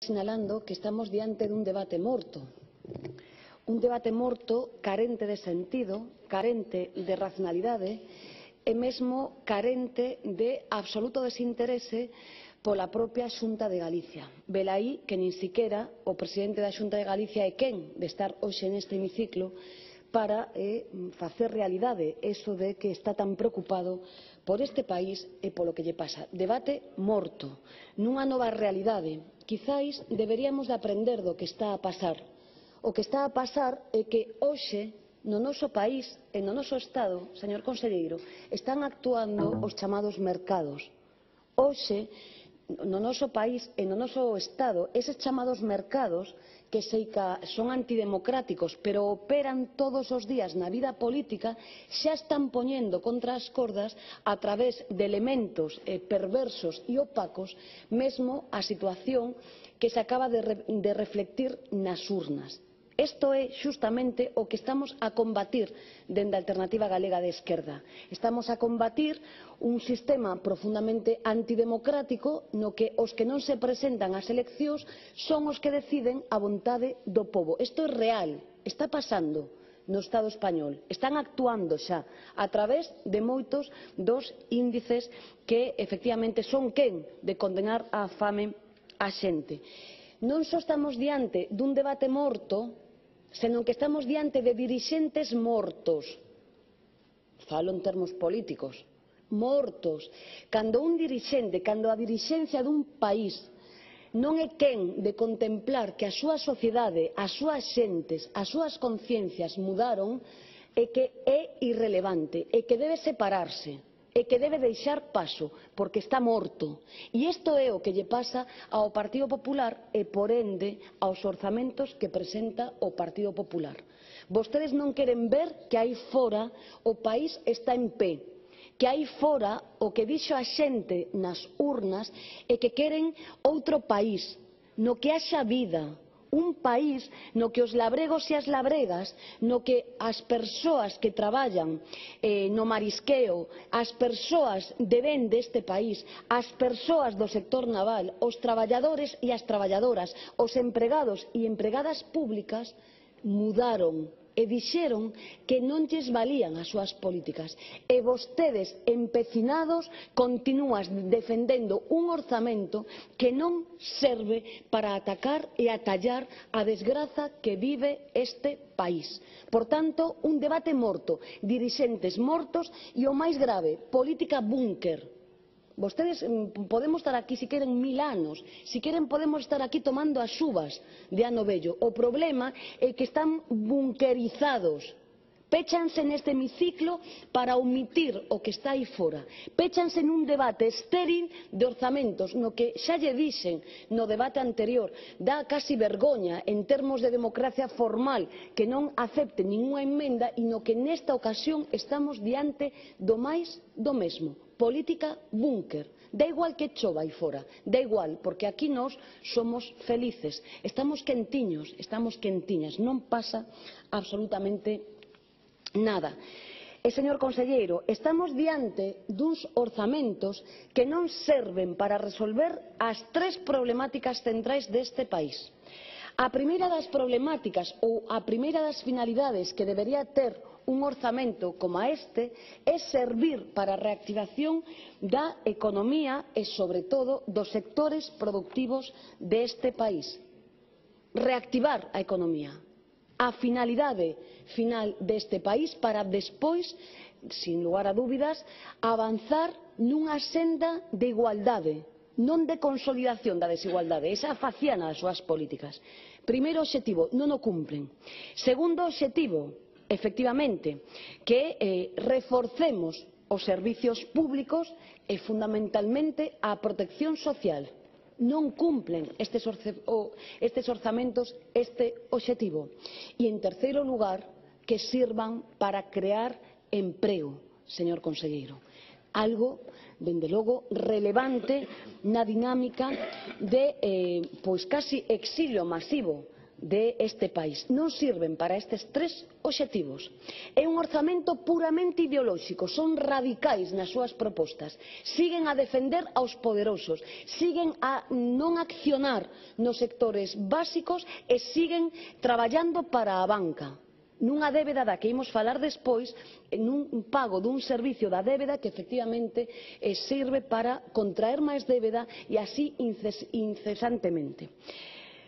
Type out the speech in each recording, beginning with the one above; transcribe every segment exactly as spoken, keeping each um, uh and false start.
sinalando que estamos diante dun debate morto. Un debate morto carente de sentido, carente de racionalidade e mesmo carente de absoluto desinterese pola propia Xunta de Galicia. Velaí que nin siquera o presidente da Xunta de Galicia é quen de estar hoxe neste hemiciclo para eh, facer realidade eso de que está tan preocupado por este país e polo que lle pasa. Debate morto, nunha nova realidade. Quizáis deberíamos de aprender do que está a pasar. O que está a pasar é que hoxe no noso país e no noso Estado, señor conselleiro, están actuando os chamados mercados. Hoxe, no noso país e no noso Estado, eses chamados mercados que sei que son antidemocráticos, pero operan todos os días na vida política, xa están poñendo contra as cordas a través de elementos eh, perversos e opacos mesmo a situación que se acaba de, re, de reflectir nas urnas. Isto é xustamente o que estamos a combatir dende a Alternativa Galega de Esquerda. Estamos a combatir un sistema profundamente antidemocrático no que os que non se presentan ás eleccións son os que deciden a vontade do pobo. Isto é real, está pasando no Estado español. Están actuando xa a través de moitos dos índices que efectivamente son quen de condenar á fame a xente. Non só estamos diante dun debate morto, senón que estamos diante de dirixentes mortos. Falo en termos políticos. Mortos. Cando un dirixente, cando a dirixencia dun país non é quen de contemplar que a súa sociedade, as súas xentes, as súas conciencias mudaron, é que é irrelevante, é que debe separarse, é que debe deixar paso, porque está morto. E isto é o que lle pasa ao Partido Popular e, por ende, aos orzamentos que presenta o Partido Popular. Vostedes non queren ver que aí fora o país está en pé, que aí fora o que dixo a xente nas urnas é que queren outro país, no que haxa vida, un país no que os labregos e as labregas, no que as persoas que traballan eh, no marisqueo, as persoas de ben deste país, as persoas do sector naval, os traballadores e as traballadoras, os empregados e empregadas públicas mudaron e dixeron que non lles valían as súas políticas. E vostedes, empecinados, continúan defendendo un orzamento que non serve para atacar e atallar a desgraza que vive este país. Por tanto, un debate morto, dirixentes mortos e, o máis grave, política búnker. Vostedes podemos estar aquí si queren mil anos, si queren podemos estar aquí tomando as uvas de ano vello. O problema é que están bunkerizados. Péchanse neste hemiciclo para omitir o que está aí fora. Péchanse nun debate estéril de orzamentos, no que xa lle dixen no debate anterior, dá casi vergoña en termos de democracia formal que non acepte ninguna emenda e no que nesta ocasión estamos diante do máis do mesmo. Política búnker. Da igual que chova aí fora, da igual, porque aquí nós somos felices, estamos quentiños, estamos quentiñas, non pasa absolutamente nada. E, señor conselleiro, estamos diante duns orzamentos que non serven para resolver as tres problemáticas centrais deste país. A primeira das problemáticas ou a primeira das finalidades que debería ter un orzamento como este é servir para a reactivación da economía e, sobre todo, dos sectores productivos deste país. Reactivar a economía. A finalidade final deste país para despois, sin lugar a dúbidas, avanzar nunha senda de igualdade, non de consolidación da desigualdade. Esa faciana das súas políticas. Primeiro obxectivo, non o cumplen. Segundo obxectivo, efectivamente, que eh, reforcemos os servicios públicos e fundamentalmente a protección social. Non cumplen estes, orce, o, estes orzamentos este obxectivo. E en terceiro lugar, que sirvan para crear emprego, señor conselleiro. Algo, dende logo, relevante na dinámica de, eh, pois casi exilio masivo deste país. Non sirven para estes tres obxectivos. É un orzamento puramente ideolóxico, son radicais nas súas propostas, siguen a defender aos poderosos, siguen a non accionar nos sectores básicos e siguen traballando para a banca, nunha débeda da que imos falar despois, nun pago dun servicio da débeda que efectivamente serve para contraer máis débeda e así incesantemente.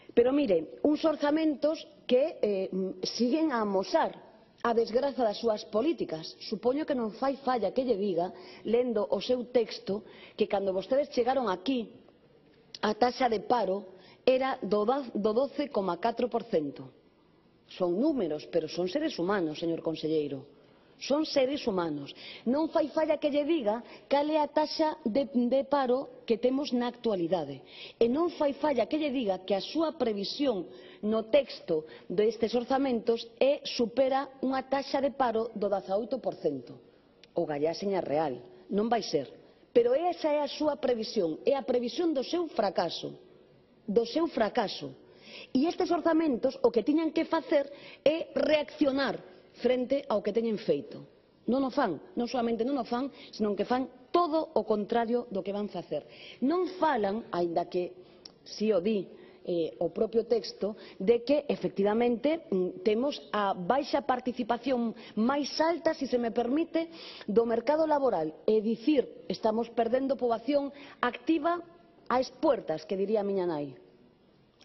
Pero mire, uns orzamentos que eh, siguen a amosar a desgraza das súas políticas. Supoño que non fai falla que lle diga, lendo o seu texto, que cando vostedes chegaron aquí, a taxa de paro era do doce coma catro por cento. Son números, pero son seres humanos, señor conselleiro. Son seres humanos. Non fai falla que lle diga cal é a taxa de, de paro que temos na actualidade. E non fai falla que lle diga que a súa previsión no texto destes orzamentos é supera unha taxa de paro do dezaoito por cento. O gallá, seña real, non vai ser. Pero esa é a súa previsión, é a previsión do seu fracaso. Do seu fracaso. E estes orzamentos o que tiñan que facer é reaccionar frente ao que teñen feito. Non o fan, non solamente non o fan, senón que fan todo o contrario do que van facer. Non falan, aínda que si o di eh, o propio texto, de que efectivamente temos a baixa participación máis alta, se se me permite, do mercado laboral. É dicir, estamos perdendo poboación activa ás puertas, que diría a miña nai.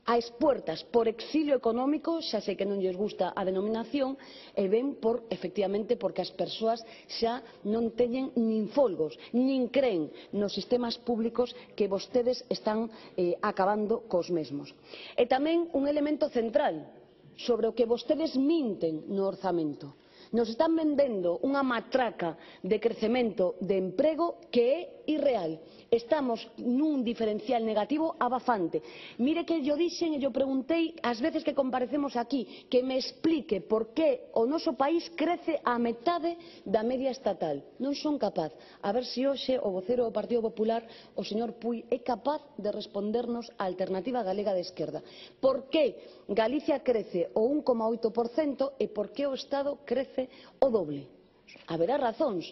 Ás puertas por exilio económico, xa sei que non lles gusta a denominación, e ben por, efectivamente, porque as persoas xa non teñen nin folgos, nin creen nos sistemas públicos que vostedes están eh, acabando cos mesmos. E tamén un elemento central sobre o que vostedes minten no orzamento. Nos están vendendo unha matraca de crecemento de emprego que é irreal. Estamos nun diferencial negativo abafante. Mire que yo dixen e yo preguntei ás veces que comparecemos aquí que me explique por que o noso país crece a metade da media estatal. Non son capaz. A ver se hoxe o vocero do Partido Popular, o señor Puig, é capaz de respondernos a Alternativa Galega de Esquerda. Por que Galicia crece o un coma oito por cento e por que o Estado crece o doble? Haberá razóns.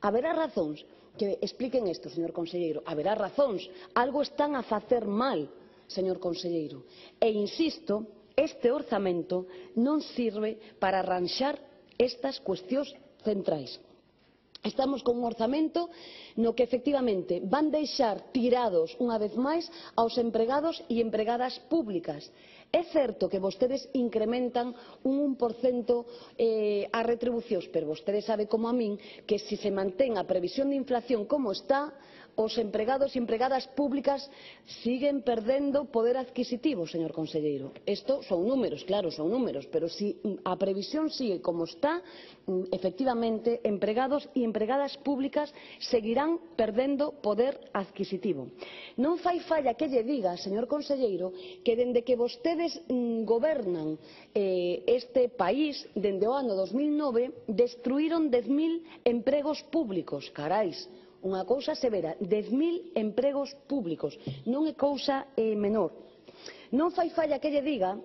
Haberá razóns que expliquen isto, señor conselleiro. Haberá razóns. Algo están a facer mal, señor conselleiro. E insisto, este orzamento non sirve para arranxar estas cuestións centrais. Estamos con un orzamento no que efectivamente van deixar tirados unha vez máis aos empregados e empregadas públicas. É certo que vostedes incrementan un un por cento eh, as retribucións, pero vostede sabe como a min que se se mantén a previsión de inflación como está, os empregados e empregadas públicas siguen perdendo poder adquisitivo, señor conselleiro. Isto son números, claro, son números, pero se a previsión sigue como está, efectivamente, empregados e empregadas públicas seguirán perdendo poder adquisitivo. Non fai falla que lle diga, señor conselleiro, que dende que vostedes gobernan eh, este país, dende o ano dos mil nove, destruíron dez mil empregos públicos. Carais, unha cousa severa, dez mil empregos públicos, non é cousa eh, menor. Non fai falla que lle diga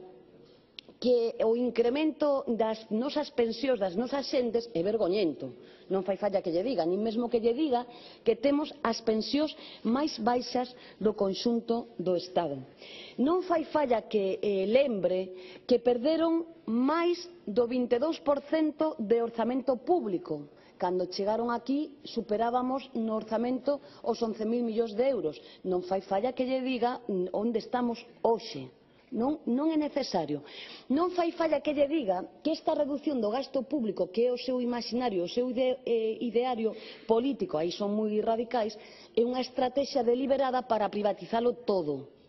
que o incremento das nosas pensións das nosas xentes é vergoñento. Non fai falla que lle diga, nin mesmo que lle diga que temos as pensións máis baixas do conxunto do Estado. Non fai falla que eh, lembre que perderon máis do vinte e dous por cento de orzamento público. Cando chegaron aquí superábamos no orzamento os once mil millóns de euros. Non fai falla que lle diga onde estamos hoxe. Non, non é necesario. Non fai falla que lle diga que esta reducción do gasto público, que é o seu imaginario, o seu ide, eh, ideario político, aí son moi radicais, é unha estrategia deliberada para privatizalo todo.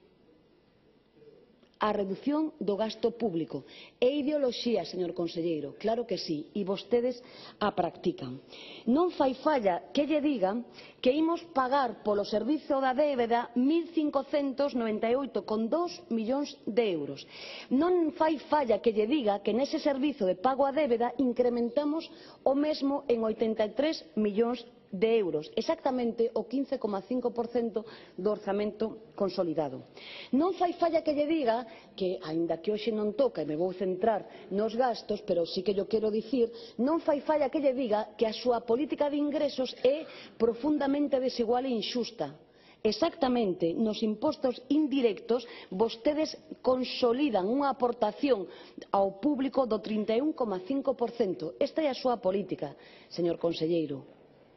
A reducción do gasto público. É ideoloxía, señor conselleiro, claro que sí, e vostedes a practican. Non fai falla que lle digan que imos pagar polo servizo da débeda mil cincocentos noventa e oito coma dous millóns de euros. Non fai falla que lle diga que nese servizo de pago a débeda incrementamos o mesmo en oitenta e tres millóns de euros, exactamente o quince coma cinco por cento do orzamento consolidado. Non fai falla que lle diga que, aínda que hoxe non toca e me vou centrar nos gastos, pero sí que yo quero dicir, non fai falla que lle diga que a súa política de ingresos é profundamente desigual e inxusta. Exactamente, nos impostos indirectos vostedes consolidan unha aportación ao público do trinta e un coma cinco por cento. Esta é a súa política, señor conselleiro.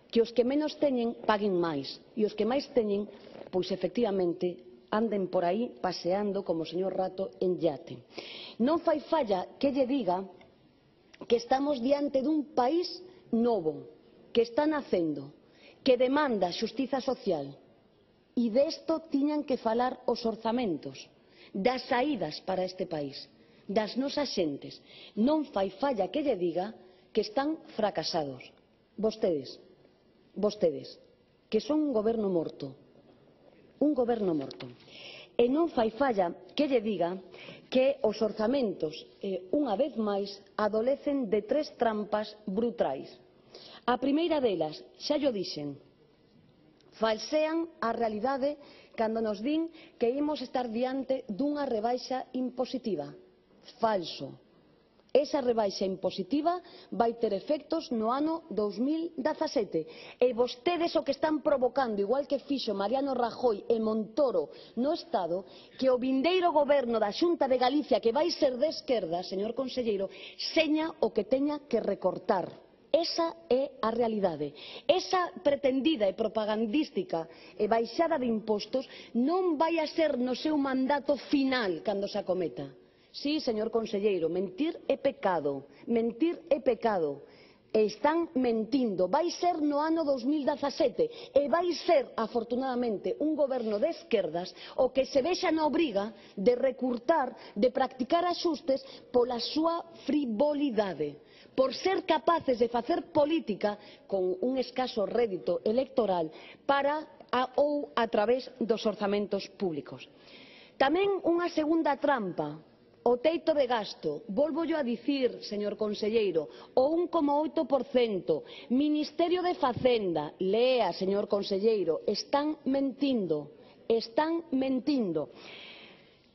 Que os que menos teñen paguen máis e os que máis teñen, pois efectivamente, anden por aí paseando como o señor Rato en yate. Non fai falla que lle diga que estamos diante dun país novo, que está nacendo, que demanda xustiza social. E desto tiñan que falar os orzamentos, das saídas para este país, das nosas xentes. Non fai falla que lle diga que están fracasados. Vostedes, vostedes, que son un goberno morto, un goberno morto. E non fai falla que lle diga que os orzamentos, eh, unha vez máis, adolecen de tres trampas brutais. A primeira delas, xa llo dixen, falsean a realidade cando nos din que imos estar diante dunha rebaixa impositiva. Falso. Esa rebaixa impositiva vai ter efectos no ano dous mil dezasete e vostedes o que están provocando, igual que fixo Mariano Rajoy e Montoro no Estado, que o vindeiro goberno da Xunta de Galicia, que vai ser de esquerda, señor conselleiro, seña o que teña que recortar. Esa é a realidade. Esa pretendida e propagandística e baixada de impostos non vai a ser no seu mandato final cando se acometa. Sí, señor conselleiro, mentir é pecado, mentir é pecado. E están mentindo. Vai ser no ano dous mil dezasete e vai ser, afortunadamente, un goberno de esquerdas o que se vexa na obriga de recurtar, de practicar axustes pola súa frivolidade, por ser capaces de facer política con un escaso rédito electoral para a, ou a través dos orzamentos públicos. Tamén unha segunda trampa, o teito de gasto. Volvollo a dicir, señor conselleiro, o un coma oito por cento. Ministerio de Facenda, lea, señor conselleiro, están mentindo, están mentindo.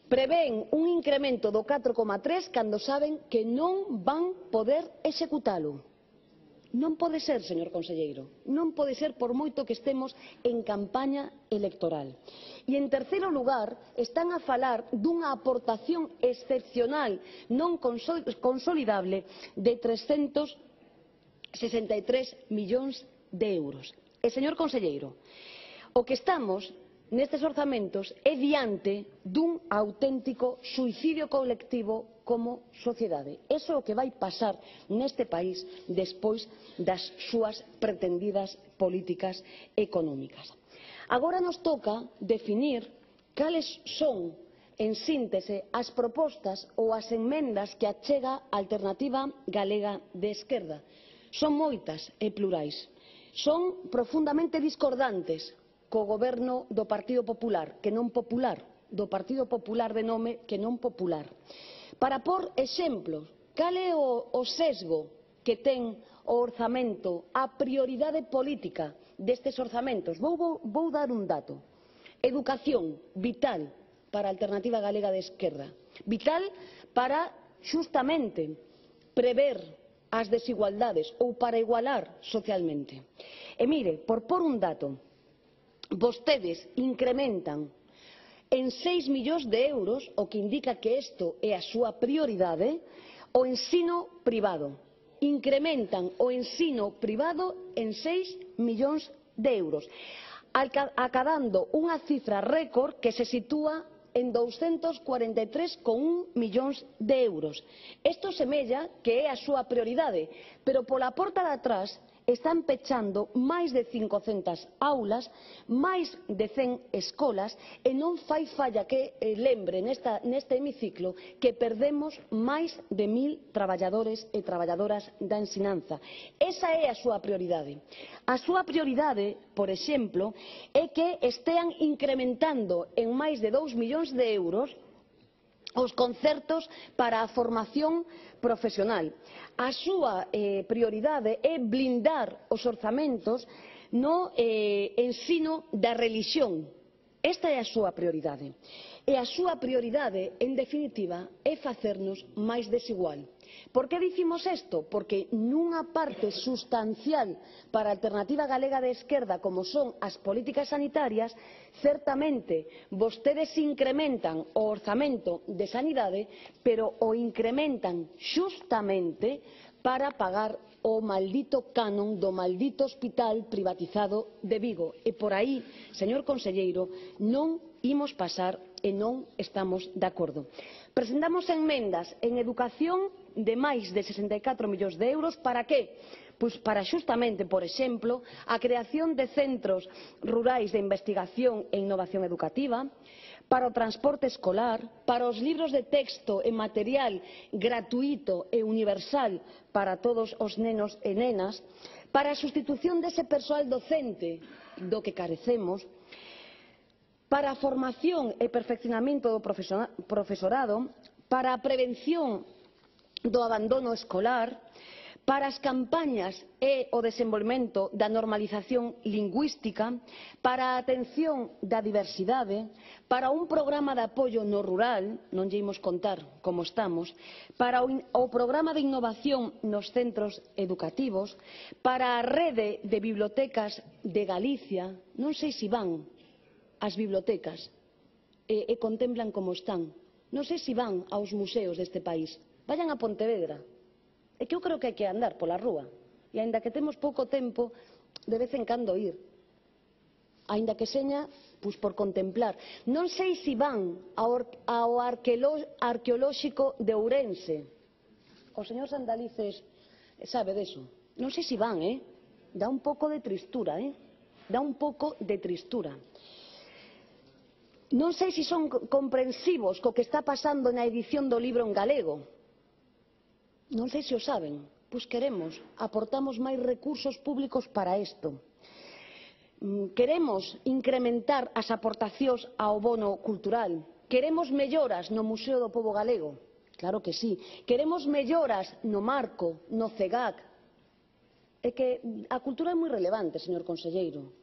Prevén un incremento do catro coma tres cando saben que non van poder executalo. Non pode ser, señor conselleiro, non pode ser por moito que estemos en campaña electoral. E en terceiro lugar, están a falar dunha aportación excepcional non consolidable de trescentos sesenta e tres millóns de euros. E, señor conselleiro, o que estamos nestes orzamentos é diante dun auténtico suicidio colectivo como sociedade. Iso é o que vai pasar neste país despois das súas pretendidas políticas económicas. Agora nos toca definir cales son, en síntese, as propostas ou as emendas que achega a Alternativa Galega de Esquerda. Son moitas e plurais. Son profundamente discordantes co goberno do Partido Popular, que non popular, do Partido Popular de nome que non popular. Para por exemplos, cal é o, o sesgo que ten o orzamento, a prioridade política destes orzamentos? Vou, vou, vou dar un dato. Educación, vital para a Alternativa Galega de Esquerda. Vital para, xustamente, prever as desigualdades ou para igualar socialmente. E mire, por por un dato, vostedes incrementan en seis millóns de euros, o que indica que isto é a súa prioridade, o ensino privado. Incrementan o ensino privado en seis millóns de euros, acadando unha cifra récord que se sitúa en douscentos cuarenta e tres coma un millóns de euros. Isto semella que é a súa prioridade, pero pola porta de atrás están pechando máis de cincocentas aulas, máis de cen escolas, e non fai falla que eh, lembre nesta, neste hemiciclo que perdemos máis de mil traballadores e traballadoras da ensinanza. Esa é a súa prioridade. A súa prioridade, por exemplo, é que estean incrementando en máis de dous millóns de euros os concertos para a formación profesional. A súa eh, prioridade é blindar os orzamentos no eh, ensino da relixión. Esta é a súa prioridade. E a súa prioridade, en definitiva, é facernos máis desigual. Por que dicimos isto? Porque nunha parte sustancial para a alternativa galega de esquerda, como son as políticas sanitarias, certamente vostedes incrementan o orzamento de sanidade, pero o incrementan xustamente para pagar o maldito canon do maldito hospital privatizado de Vigo. E por aí, señor conselleiro, non imos pasar e non estamos de acordo. Presentamos enmendas en educación de máis de sesenta e catro millóns de euros. Para que? Pois para xustamente, por exemplo, a creación de centros rurais de investigación e innovación educativa, para o transporte escolar, para os libros de texto e material gratuíto e universal para todos os nenos e nenas, para a sustitución dese persoal docente do que carecemos, para a formación e perfeccionamento do profesorado, para a prevención do abandono escolar, para as campañas e o desenvolvemento da normalización lingüística, para a atención da diversidade, para un programa de apoio no rural, non lle imos contar como estamos, para o programa de innovación nos centros educativos, para a rede de bibliotecas de Galicia. Non sei se van ás bibliotecas e, e contemplan como están. Non sei se van aos museos deste país. Vayan a Pontevedra. É que eu creo que hai que andar pola rúa. E, aínda que temos pouco tempo, de vez en cando ir. Aínda que seña, pois por contemplar. Non sei se van ao, ao arqueolóxico de Ourense. O señor Sandalices sabe deso. Non sei se van, eh? Dá un pouco de tristura, eh? Dá un pouco de tristura. Non sei se son comprensivos co que está pasando na edición do libro en galego. Non sei se o saben, pois queremos, aportamos máis recursos públicos para isto. Queremos incrementar as aportacións ao bono cultural. Queremos melloras no Museo do Pobo Galego, claro que sí. Queremos melloras no marco, no CEGAC. É que a cultura é moi relevante, señor conselleiro.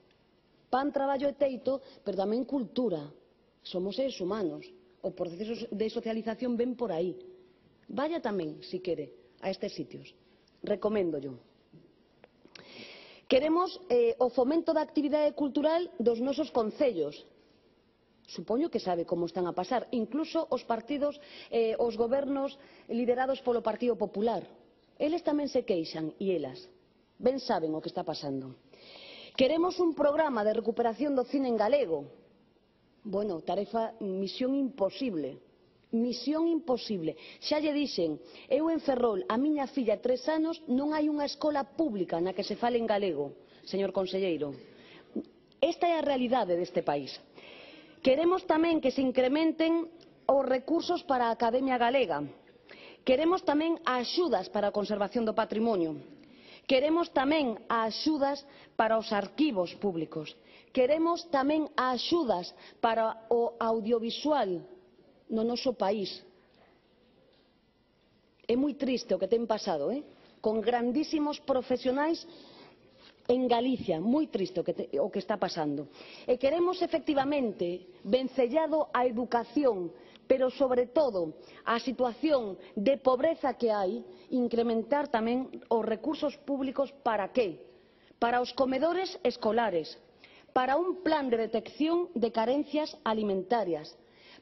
Pan, traballo e teito, pero tamén cultura. Somos seres humanos. O proceso de socialización ven por aí. Vaya tamén, si quere, a estes sitios. Recoméndollo. Queremos eh, o fomento da actividade cultural dos nosos concellos. Supoño que sabe como están a pasar. Incluso os partidos, eh, os gobernos liderados polo Partido Popular. Eles tamén se queixan, e elas. Ben saben o que está pasando. Queremos un programa de recuperación do cine en galego. Bueno, tarefa, misión imposible. Misión imposible. Xa lle dixen, eu en Ferrol, a miña filla tres anos, non hai unha escola pública na que se fale en galego, señor conselleiro. Esta é a realidade deste país. Queremos tamén que se incrementen os recursos para a Academia Galega. Queremos tamén axudas para a conservación do patrimonio. Queremos tamén axudas para os arquivos públicos. Queremos tamén axudas para o audiovisual no noso país. É moi triste o que ten pasado, eh? Con grandísimos profesionais en Galicia, moi triste o que, te, o que está pasando. E queremos efectivamente vencellado a educación, pero sobre todo a situación de pobreza que hai, incrementar tamén os recursos públicos. Para que? Para os comedores escolares, para un plan de detección de carencias alimentarias,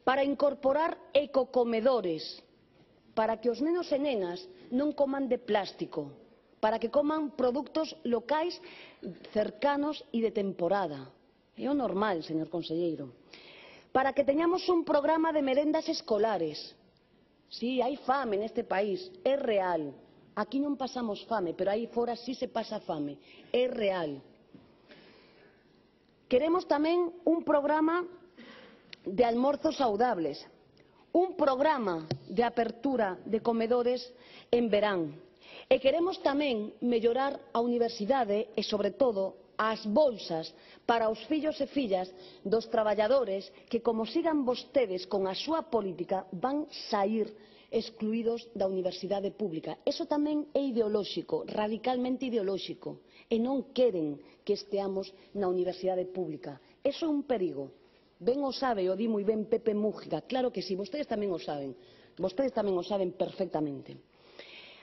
para incorporar ecocomedores, para que os nenos e nenas non coman de plástico, para que coman produtos locais cercanos e de temporada. É o normal, señor conselleiro. Para que teñamos un programa de merendas escolares. Sí, hai fame neste país, é real. Aquí non pasamos fame, pero aí fora sí se pasa fame, é real. Queremos tamén un programa de almorzos saudables, un programa de apertura de comedores en verán. E queremos tamén mellorar a universidade e, sobre todo, as bolsas para os fillos e fillas dos traballadores que, como sigan vostedes con a súa política, van saír excluídos da universidade pública. Eso tamén é ideolóxico, radicalmente ideolóxico, e non queren que esteamos na universidade pública. Eso é un perigo. Ben o sabe, o di moi ben Pepe Mújica, claro que sí, vostedes tamén o saben, vostedes tamén o saben perfectamente.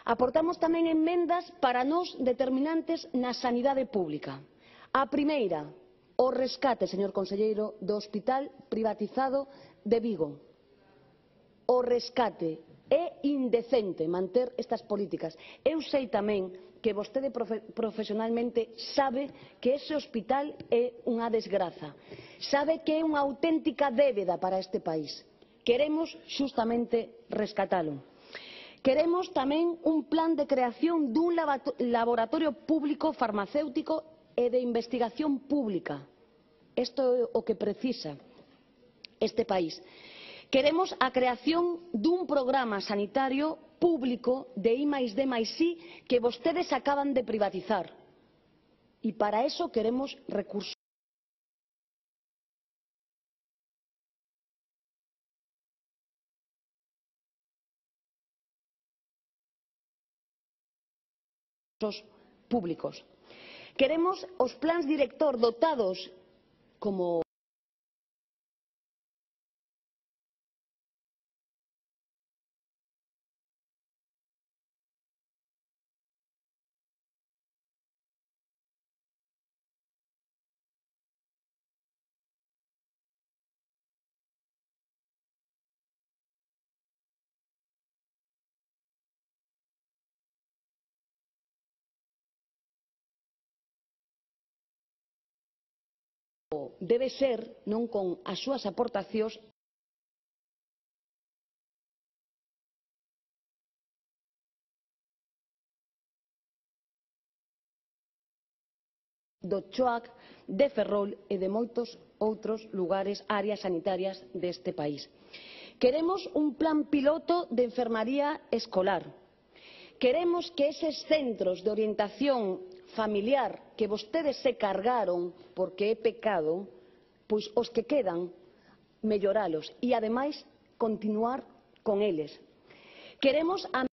Aportamos tamén emendas para nós determinantes na sanidade pública. A primeira, o rescate, señor conselleiro, do hospital privatizado de Vigo. O rescate. É indecente manter estas políticas. Eu sei tamén que vostede profe profesionalmente sabe que ese hospital é unha desgraza. Sabe que é unha auténtica débeda para este país. Queremos xustamente rescatalo. Queremos tamén un plan de creación dun laboratorio público farmacéutico e de investigación pública. Isto é o que precisa este país. Queremos a creación dun programa sanitario público de I máis D máis I que vostedes acaban de privatizar. E para eso queremos recursos públicos. Queremos os plans director dotados como debe ser, non con as súas aportacións, do Choac, de Ferrol e de moitos outros lugares, áreas sanitarias deste país. Queremos un plan piloto de enfermaría escolar. Queremos que eses centros de orientación familiar que vostedes se cargaron porque é pecado, pois os que quedan, melloralos e, ademais, continuar con eles. Queremos a